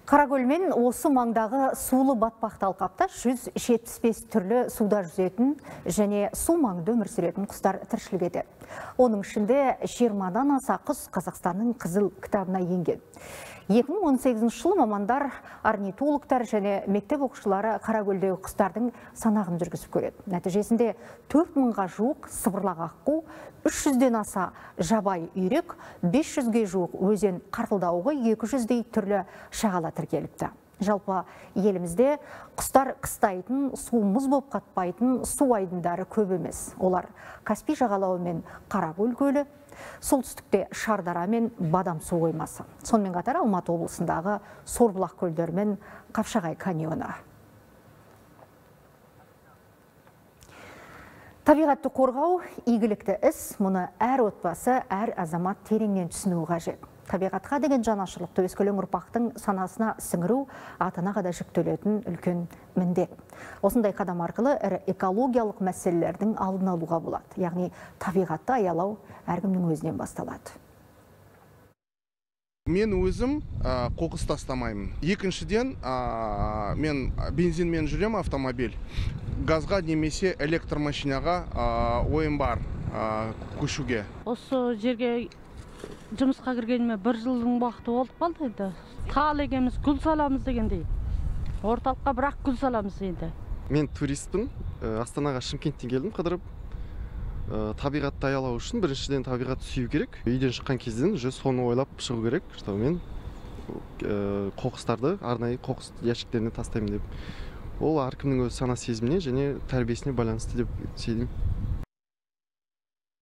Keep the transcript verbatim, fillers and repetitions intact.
Қаракөл мен осы маңдағы сулы батпақты алқапта жүз жетпіс бес түрлі суда жүзетін және су маңында өмір сүретін құстар тіршілік етеді. Оның ішінде жиырмадан аса құс Қазақстанның қызыл кітабына енген. екі мың он сегізінші жылы мамандар, орнитологтар және мектеп оқушылары Қаракөлдегі құстардың санағын жүргізіп көреді. Нәтижесінде төрт мыңға жуық сыбырлақ аққу, үш жүзден аса жабай үйрек, бес жүзге жуық өзен қарқылдауығы, екі жүздей түрлі шағала тіркеліпті. Жалпы елімізде құстар қыстайтын, су мұз боп қатпайтын су айдындары көп емес. Олар Каспий жағалауы мен Қаракөл көлі, солтүстікте Шардара мен Бадам су қоймасы. Сонымен қатар Алматы облысындағы Сорбұлақ көлдері мен Қапшағай каньоны. Табиғатты қорғау игілікті іс, мұны әр отбасы, әр азамат тереңнен түсінуі қажет. Табиғатқа деген жанашырлықты өскелең ұрпақтың санасына сіңіру ата-анаға да жүктелетін үлкен міндет. Осындай қадам арқылы ірі экологиялық мәселелердің алдын алуға болады. Яғни табиғатты аялау әркімнің өзінен басталады. Мен өзім қоқыс тастамаймын. Екіншіден, мен бензинмен жүрем автомобиль. Газға немесе электромашинаға ойым бар көшуге. Осы жерге жұмысқа кіргеніме бір жылдың уақыты болып қалды енді. Тал егеміз, гүл саламыз дегендей. Орталыққа бірақ гүл саламыз енді. Мен туристпін. Астанаға Шымкенттен келдім қыдырып. Табиғатты аялау үшін біріншіден табиғатты сүю керек. Үйден шыққан кезден уже соны ойлап шығу керек, что мен қоқыстарды арнайы қоқыс ящиктеріне тастаймын деп. Ол әркімнің өз сана сезіміне және тәрбиесіне байланысты деп сеземін.